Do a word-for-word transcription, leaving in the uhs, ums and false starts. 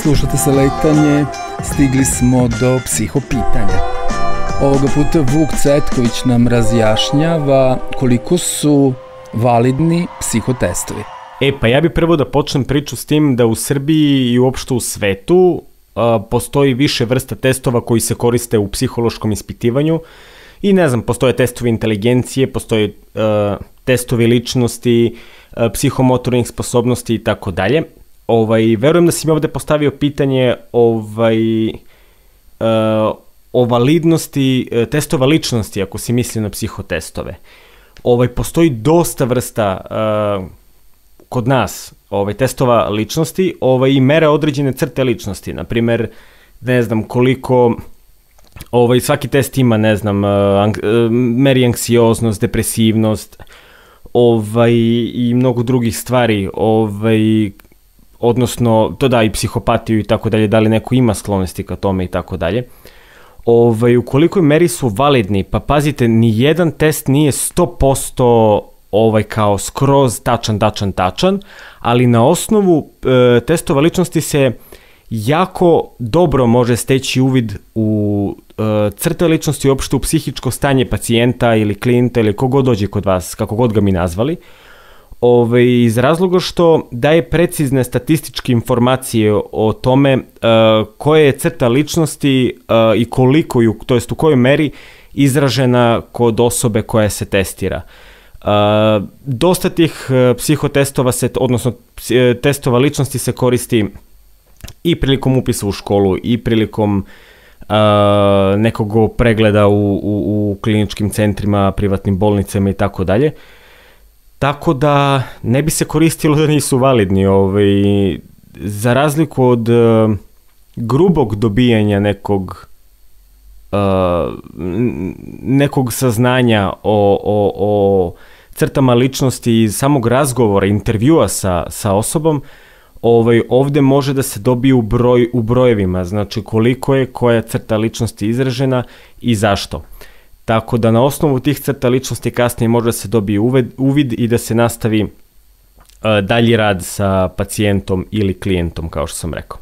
slušate Saletanje, stigli smo do psihopitanja. Ovoga puta Vuk Cvetković nam razjašnjava koliko su validni psihotestovi. E, pa ja bih prvo da počnem priču s tim da u Srbiji i uopšte u svetu a, postoji više vrsta testova koji se koriste u psihološkom ispitivanju i ne znam, postoje testovi inteligencije, postoje a, testovi ličnosti, a, psihomotornih sposobnosti i tako dalje. Ovaj, verujem da si mi ovde postavio pitanje ovaj, a, o validnosti a, testova ličnosti, ako si mislio na psihotestove. Ovaj, postoji dosta vrsta a, kod nas ovaj, testova ličnosti ovaj, i mere određene crte ličnosti. Naprimer, ne znam koliko, ovaj, svaki test ima, ne znam, ank, meri anksioznost, depresivnost ovaj, i mnogo drugih stvari, ovaj, odnosno, to da i psihopatiju i tako dalje, da li neko ima sklonosti ka tome i tako dalje. Ovaj, u kolikoj meri su validni, pa pazite, ni jedan test nije sto posto ovaj kao skroz tačan, tačan, tačan, ali na osnovu e, testova ličnosti se jako dobro može steći uvid u e, crte ličnosti, uopšte u psihičko stanje pacijenta ili klijenta ili kogod dođe kod vas, kako god ga mi nazvali, Ove, iz razloga što daje precizne statističke informacije o tome e, koja je crta ličnosti e, i koliko ju, to jest u kojoj meri izražena kod osobe koja se testira. Uh, dosta tih uh, psihotestova se, odnosno uh, testova ličnosti se koristi i prilikom upisa u školu i prilikom uh, nekog pregleda u, u, u kliničkim centrima, privatnim bolnicama i tako dalje. Tako da ne bi se koristilo da nisu validni. Ovaj, za razliku od uh, grubog dobijanja nekog Uh, nekog saznanja o, o, o crtama ličnosti iz samog razgovora, intervjua sa, sa osobom, ovaj, ovde može da se dobije u, broj, u brojevima, znači koliko je koja crta ličnosti izražena i zašto. Tako da na osnovu tih crta ličnosti kasnije može da se dobije uvid, uvid i da se nastavi uh, dalji rad sa pacijentom ili klijentom, kao što sam rekao.